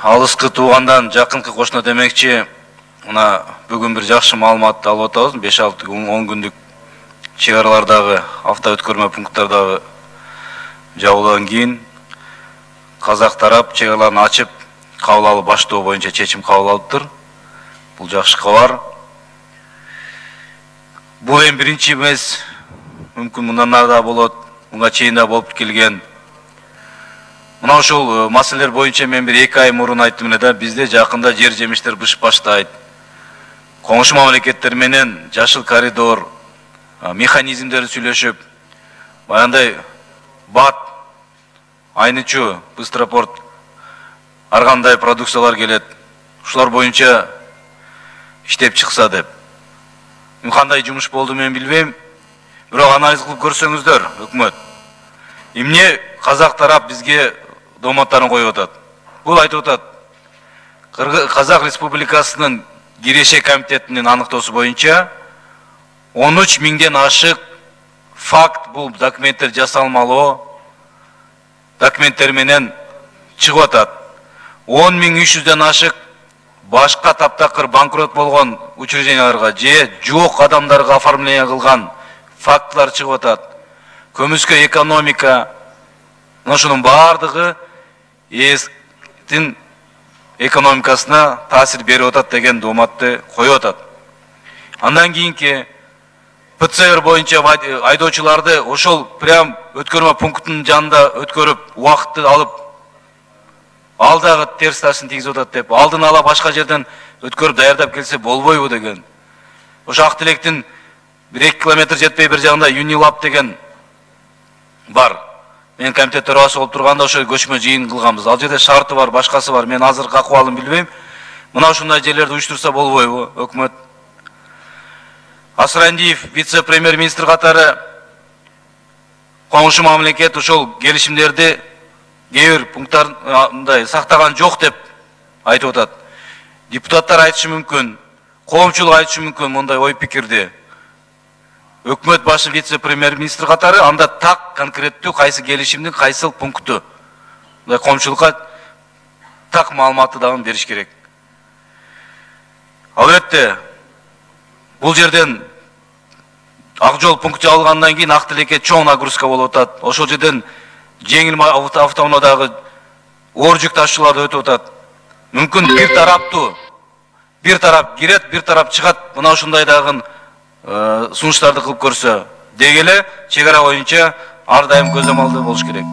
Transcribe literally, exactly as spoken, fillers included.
алыскы туугандан жакынкы кошуна демекчи, мына бүгүн бир жакшы маалыматты алып атабыз. беш алты он күндүк чек аралардагы автоөткөрмө пункттардагы жабылгандан кийин казак тарап чек араларын ачып кабыл алып баштоо боюнча чечим кабыл алыптыр. Бул жакшы кабар. Бул эми биринчи эмес, мүмкүн мындан ары да болот, мынга чейин да болуп келген. Мына ушул маселелер боюнча мен бир эки ай мурун айттым эле да, бизде жакында жер жемиштер бышып баштайт. Коңшу мамлекеттер менен жашыл коридор механизмдери сүйлөшүп, баягындай бат, айнычу, быстропорт ар кандай продукциялар келет. Ушулар боюнча иштеп чыкса деп. Кандай жумуш болду мен билбейм. Бирок анализ кылып көрсөңүздөр, өкмөт. Эмне казак тарап бизге доматтарын коюп атат? Бул айтып атат. Казак Республикасынын Киреше комитетинин аныктоосу боюнча он үч миңден ашык факт бул документтер жасалмалуу документтер менен чыгып атат. он миң үч жүздөн ашык башка таптакыр банкрот болгон учрежденияларга же жок адамдарга оформление кылган фактылар чыгып атат. Көмүскө экономика, ошонун баардыгы эстин экономикасына таасир берип атат деген дооматты коюп атат. Андан кийинки ПЦР боюнча айдоочуларды ошол прям өткөрмө пунктунун жанында өткөрүп, убакытты алып, ал дагы терс тасын тийгизип атат деп, алдын ала башка жерден өткөрүп даярдап келсе болбойбу деген. Ошо Ак Тилектин бир эки километр жетпей бир жагында Юнилаб деген бар. Мен комитет төрагасы болуп турганда ошо көчмө жыйын кылганбыз. Ал жерде шарты бар, башкасы бар. Мен азыр акыбалын билбейм. Мына ушундай жерлерди уюштурса болбойбу өкмөт? Асырандиев вице-премьер-министр катары коңшу мамлекет ошол келишимдерди кээ бир пункттарында сактаган жок деп айтып атат. Депутаттар айтышы мүмкүн, коомчулук айтышы мүмкүн мындай ой пикирди. Өкмөт башы вице-премьер-министр катары анда так конкреттүү кайсы келишимдин кайсыл пункту мындай коомчулукка так маалыматты дагы бериш керек. Албетте бул жерден ак жол пункт жабылгандан кийин Ак Тилекке чоң нагрузка болуп атат. Ошол жерден жеңил автоунаадагы оор жүк ташуучуларды өтүп атат. Мүмкүн бир тараптуу, бир тарап кирет, бир тарап чыгат. Мына ушундай дагы сунуштарды кылып көрсө, деги эле чек ара боюнча ар дайым көзөмалдуу болуш керек.